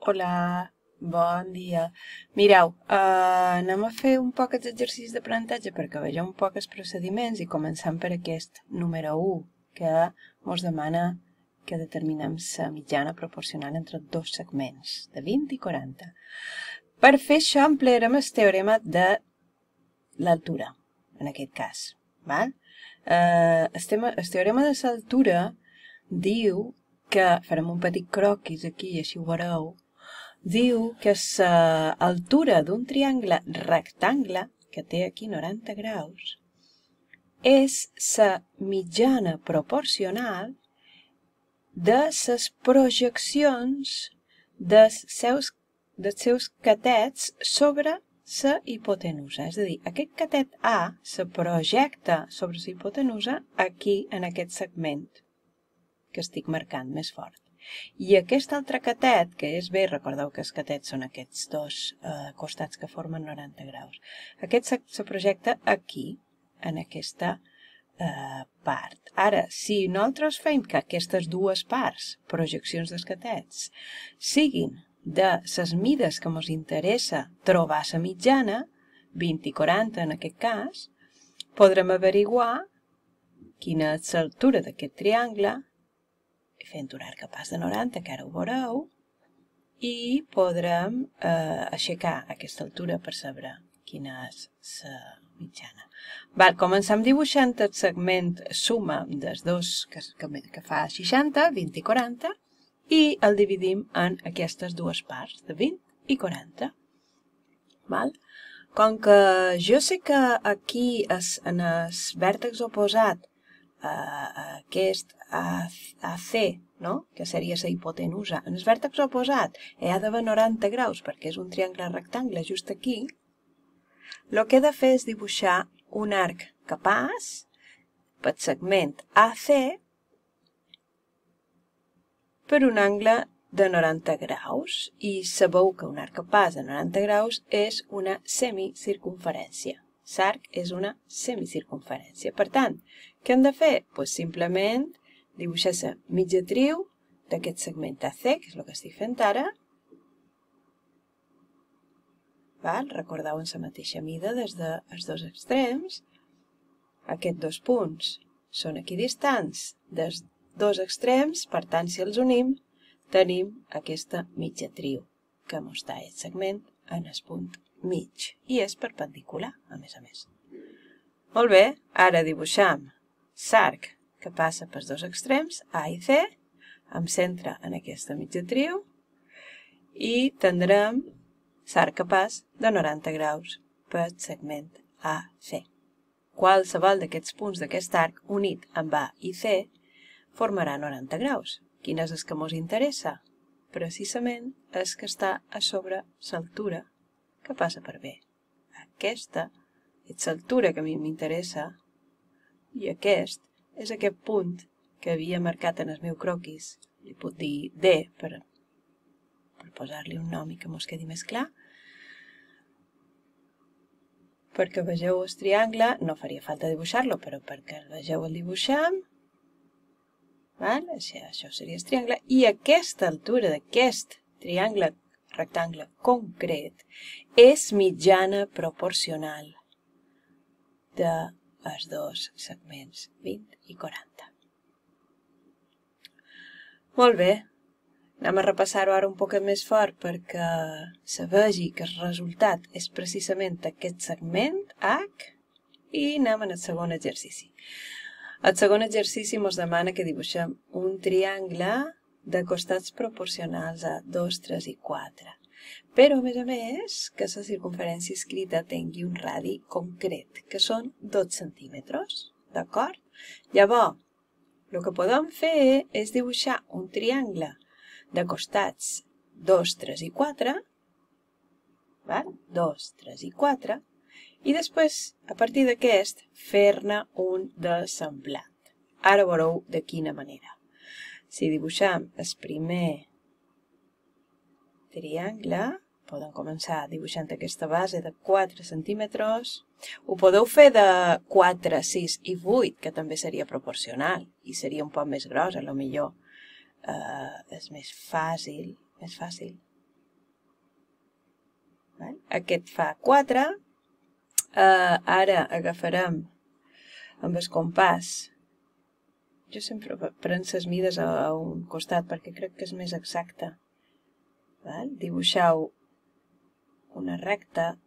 Hola, bon dia. Mireu, anem a fer un poc els exercicis d'aprenentatge perquè vegeu un poc els procediments i començant per aquest número 1, que ens demana que determinem la mitjana proporcional entre dos segments, de 20 i 40. Per fer això emplearem el teorema de l'altura, en aquest cas. Val? El teorema de l'altura diu que, farem un petit croquis aquí i així ho veureu, diu que l'altura d'un triangle rectangle, que té aquí 90 graus, és la mitjana proporcional de les projeccions dels seus catets sobre la hipotenusa. És a dir, aquest catet A se projecta sobre la hipotenusa aquí, en aquest segment que estic marcant més fort. I aquest altre catet, que és B, recordeu que els catets són aquests dos costats que formen 90 graus. Aquest se projecta aquí, en aquesta part. Ara, si nosaltres fem que aquestes dues parts, projeccions dels catets, siguin de les mides que ens interessa trobar la mitjana, 20 i 40 en aquest cas, podrem averiguar quina és l'altura d'aquest triangle, fent un arc a pas de 90, que ara ho veureu, i podrem aixecar aquesta altura per saber quina és la mitjana. Comencem dibuixant el segment suma dels dos que fa 60, 20 i 40, i el dividim en aquestes dues parts, de 20 i 40. Com que jo sé que aquí en el vèrtex oposat aquest AC, no? Que seria la hipotenusa, en el vèrtex oposat hi ha d'haver 90 graus perquè és un triangle rectangle just aquí, el que he de fer és dibuixar un arc que pas pel segment AC per un angle de 90 graus i sabeu que un arc que pas de 90 graus és una semicircunferència. L'arc és una semicircunferència. Per tant, què hem de fer? Doncs simplement dibuixar la mitjatriu d'aquest segment AC, que és el que estic fent ara. Recordeu en la mateixa mida des dels dos extrems. Aquests dos punts són equidistants dels dos extrems, per tant, si els unim, tenim aquesta mitjatriu que mostra el segment en el punt mig i és perpendicular, a més. Molt bé, ara dibuixam l'arc que passa pels dos extrems, A i C, amb centre en aquesta mitjatriu, i tindrem l'arc que passa de 90 graus pel segment AC. Qualsevol d'aquests punts d'aquest arc unit amb A i C formarà 90 graus. Quin és el que ens interessa? Precisament és que està a sobre l'altura que passa per B. Aquesta és l'altura que a mi m'interessa i aquest és aquest punt que havia marcat en el meu croquis. Li puc dir D per posar-li un nom i que mos quedi més clar. Perquè vegeu el triangle, no faria falta dibuixar-lo, però perquè el vegeu el dibuixem. Això seria el triangle. I aquesta altura d'aquest triangle rectangle concret és mitjana proporcional dels dos segments 20 i 40. Molt bé, anem a repassar-ho ara un poc més fort perquè se vegi que el resultat és precisament aquest segment H i anem al segon exercici. El segon exercici ens demana que dibuixem un triangle de costats proporcionals a 2, 3 i 4. Però, a més, que la circunferència escrita tingui un radi concret, que són 2 centímetres. D'acord? Llavors, el que podem fer és dibuixar un triangle de costats 2, 3 i 4, 2, 3 i 4, i després, a partir d'aquest, fer-ne un de semblant. Ara veureu de quina manera. Si dibuixem el primer triangle, podem començar dibuixant aquesta base de 4 centímetres. Ho podeu fer de 4, 6 i 8, que també seria proporcional, i seria un poc més gros, potser és més fàcil. Aquest fa 4. Ara agafarem amb el compàs. Jo sempre prenc les mides a un costat perquè crec que és més exacte. Dibuixeu una recta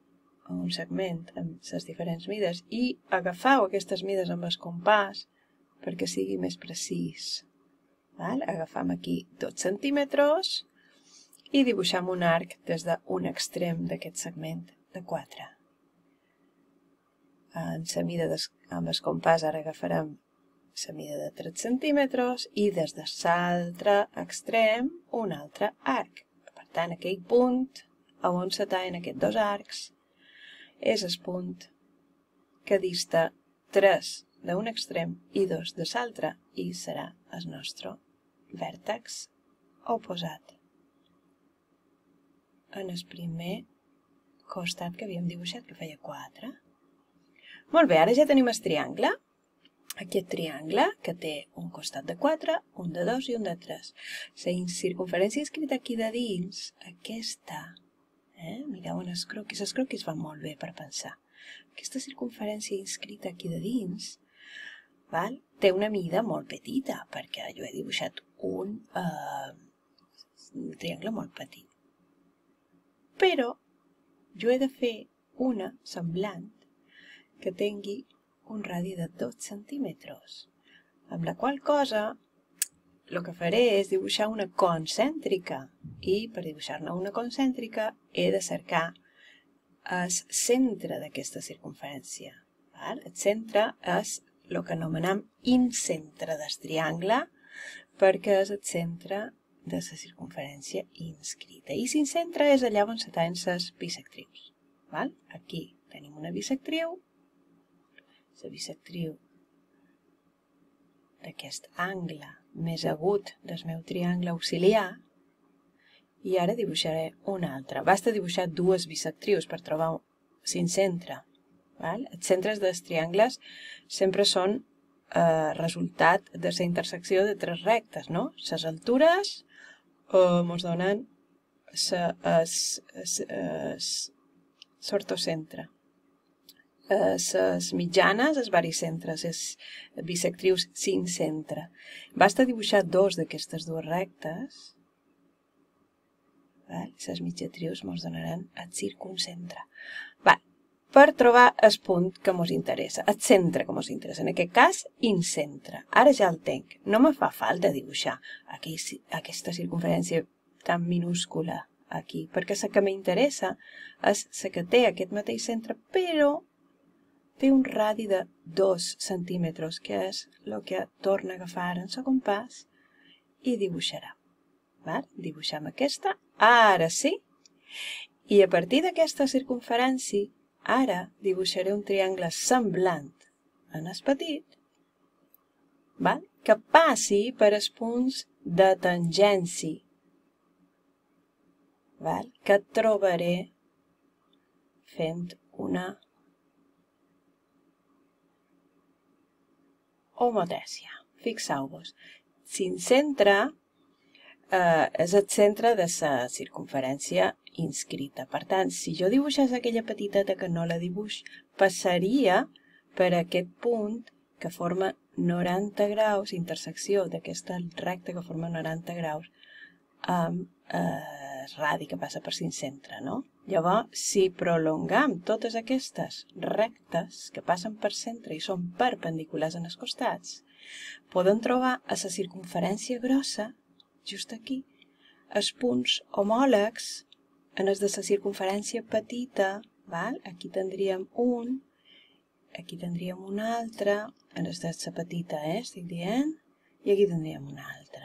o un segment amb les diferents mides i agafeu aquestes mides amb el compàs perquè sigui més precís. Agafam aquí 2 centímetres i dibuixem un arc des d'un extrem d'aquest segment de 4. En la mida amb el compàs ara agafarem la mida de 3 centímetres i des de l'altre extrem un altre arc. Per tant, aquell punt on se tallen aquests dos arcs és el punt que dista 3 d'un extrem i 2 de l'altre i serà el nostre vèrtex oposat en el primer costat que havíem dibuixat, que feia 4. Molt bé, ara ja tenim el triangle. Aquest triangle que té un costat de 4, un de 2 i un de 3. La circunferència inscrita aquí de dins, aquesta, mireu en els croquis van molt bé per pensar. Aquesta circunferència inscrita aquí de dins té una mida molt petita, perquè jo he dibuixat un triangle molt petit. Però jo he de fer una semblant que tingui un radi de 2 centímetres, amb la qual cosa el que faré és dibuixar una concèntrica i per dibuixar-ne una concèntrica he de cercar el centre d'aquesta circunferència. El centre és el que anomenem incentre del triangle perquè és el centre de la circunferència inscrita. I l'incentre és allà on se tallen les bisectrius. Aquí tenim una bisectriu, la bisectriu d'aquest angle més agut del meu triangle auxiliar i ara dibuixaré una altra. Basta dibuixar dues bisectrius per trobar l'incentre. Els centres dels triangles sempre són resultat de la intersecció de tres rectes, no? Les altures ens donen l'ortocentre. Les mitjanes, els baricentres, les bisectrius cincentre. Basta dibuixar dos d'aquestes dues rectes, les mitjatrius ens donaran el circuncentre. Per trobar el punt que ens interessa, el centre que ens interessa, en aquest cas, incentre. Ara ja el tenc. No me fa falta dibuixar aquesta circunferència tan minúscula aquí, perquè la que m'interessa és la que té aquest mateix centre, però té un radi de 2 centímetres, que és el que torna a agafar en el compàs i dibuixarà. Dibuixem aquesta, ara sí, i a partir d'aquesta circunferència ara dibuixaré un triangle semblant en el petit que passi per els punts de tangència que trobaré fent una homotècia. Fixeu-vos, l'incentre és el centre de la circunferència inscrita. Per tant, si jo dibuixés aquella petiteta que no la dibuix, passaria per aquest punt que forma 90 graus, intersecció d'aquesta recta que forma 90 graus amb el radi que passa per l'incentre, no? Llavors, si prolongam totes aquestes rectes que passen per centre i són perpendiculars en els costats, podem trobar a la circunferència grossa, just aquí, els punts homòlegs en els de la circunferència petita, aquí tindríem un, aquí tindríem un altre, en els de la petita, estic dient, i aquí tindríem un altre.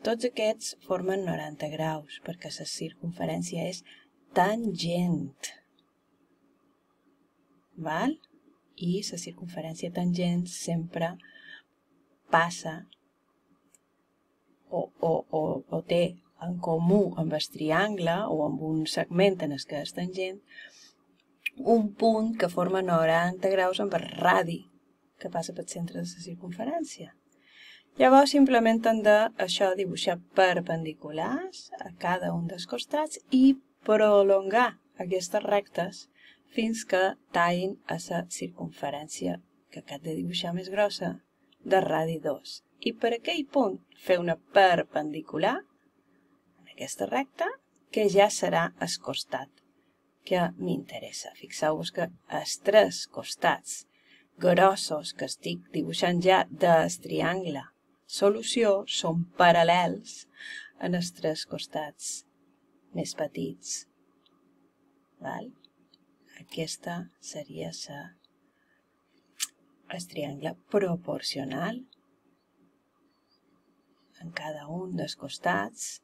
Tots aquests formen 90 graus, perquè la circunferència és tangent. I la circunferència tangent sempre passa o té en comú amb el triangle o amb un segment en el que és tangent un punt que forma 90 graus amb el radi que passa pel centre de la circunferència. Llavors simplement hem de dibuixar perpendiculars a cada un dels costats i prolongar aquestes rectes fins que tallin a la circunferència que acabem de dibuixar més grossa de radi 2. I per aquell punt fer una perpendicular en aquesta recta que ja serà el costat que m'interessa. Fixeu-vos que els tres costats grossos que estic dibuixant ja del triangle solució són paral·lels en els tres costats més petits. Val? Aquesta seria el triangle proporcional en cada un dels costats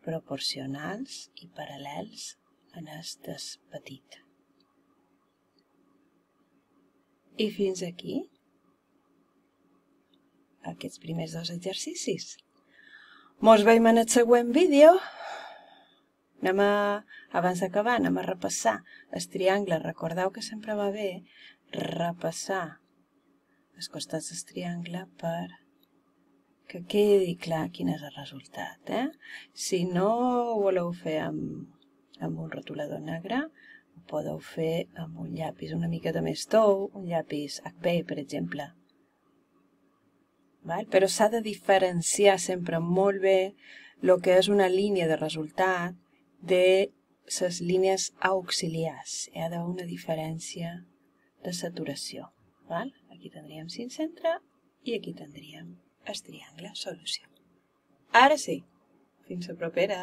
proporcionals i paral·lels en el petit. I fins aquí aquests primers dos exercicis. Mos veiem en el següent vídeo. Abans d'acabar, anem a repassar el triangle. Recordeu que sempre va bé repassar els costats del triangle per que quedi clar quin és el resultat. Si no ho voleu fer amb un rotulador negre, ho podeu fer amb un llapis una miqueta més tou, un llapis HB, per exemple. Però s'ha de diferenciar sempre molt bé el que és una línia de resultat de les línies auxiliars. Hi ha d'haver una diferència de saturació. Aquí tindríem cinc-centre i aquí tindríem el triangle solució. Ara sí, fins la propera!